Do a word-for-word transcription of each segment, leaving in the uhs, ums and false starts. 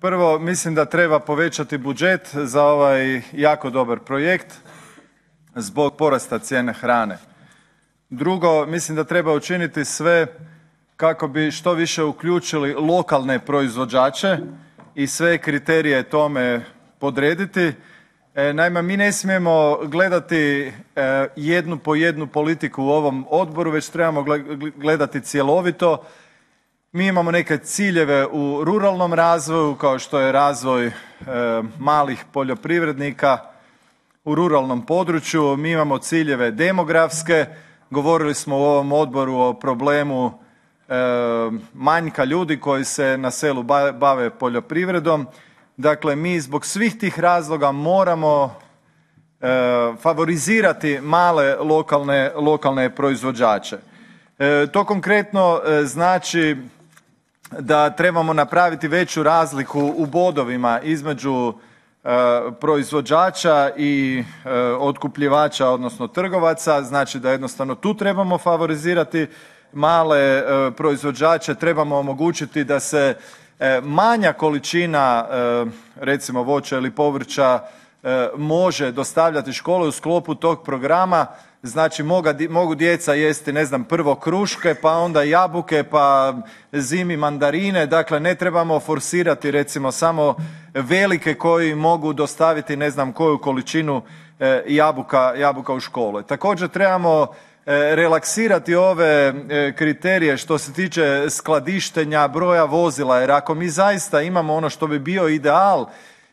Prvo, mislim da treba povećati budžet za ovaj jako dobar projekt zbog porasta cijene hrane. Drugo, mislim da treba učiniti sve kako bi što više uključili lokalne proizvođače i sve kriterije tome podrediti. E, naime, mi ne smijemo gledati e, jednu po jednu politiku u ovom odboru, već trebamo gledati cjelovito. Mi imamo neke ciljeve u ruralnom razvoju, kao što je razvoj e, malih poljoprivrednika u ruralnom području. Mi imamo ciljeve demografske. Govorili smo u ovom odboru o problemu e, manjka ljudi koji se na selu bave poljoprivredom. Dakle, mi zbog svih tih razloga moramo e, favorizirati male lokalne, lokalne proizvođače. E, to konkretno e, znači da trebamo napraviti veću razliku u bodovima između e, proizvođača i e, otkupljivača, odnosno trgovaca. Znači da jednostavno tu trebamo favorizirati male e, proizvođače, trebamo omogućiti da se e, manja količina e, recimo voća ili povrća e, može dostavljati škole u sklopu tog programa. Znači moga, mogu djeca jesti, ne znam, prvo kruške, pa onda jabuke, pa zimi mandarine. Dakle, ne trebamo forsirati recimo samo velike koji mogu dostaviti ne znam koju količinu e, jabuka, jabuka u škole. Također trebamo e, relaksirati ove e, kriterije što se tiče skladištenja broja vozila, jer ako mi zaista imamo ono što bi bio ideal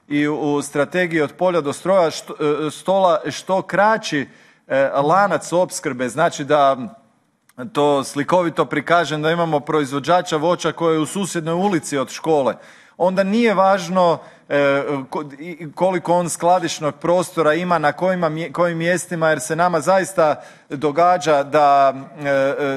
i u, u strategiji od polja do stroja što, e, stola što kraći lanac opskrbe, znači da to slikovito prikažem, da imamo proizvođača voća koji je u susjednoj ulici od škole, onda nije važno koliko on skladišnog prostora ima, na kojima, kojim mjestima, jer se nama zaista događa da,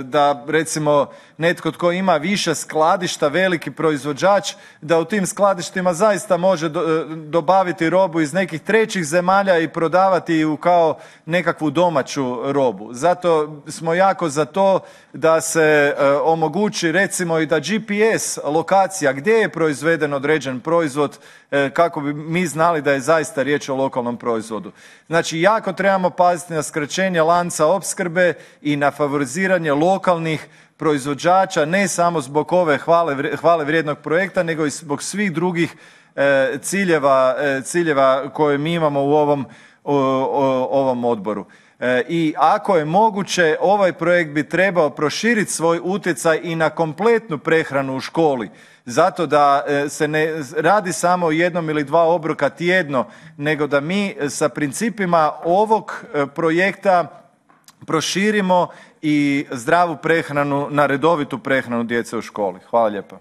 da recimo netko tko ima više skladišta, veliki proizvođač, da u tim skladištima zaista može do, dobaviti robu iz nekih trećih zemalja i prodavati ju kao nekakvu domaću robu. Zato smo jako za to da se e, omogući recimo i da G P S lokacija gdje je proizveden određen proizvod, e, kako bi mi znali da je zaista riječ o lokalnom proizvodu. Znači jako trebamo paziti na skraćenje lanca opskrbe i na favoriziranje lokalnih proizvođača, ne samo zbog ove hvale, hvale vrijednog projekta, nego i zbog svih drugih e, ciljeva, e, ciljeva koje mi imamo u ovom, o, o, ovom odboru. E, I ako je moguće, ovaj projekt bi trebao proširiti svoj utjecaj i na kompletnu prehranu u školi. Zato da e, se ne radi samo o jednom ili dva obroka tjedno, nego da mi sa principima ovog e, projekta proširimo i zdravu prehranu na redovitu prehranu djece u školi. Hvala lijepa.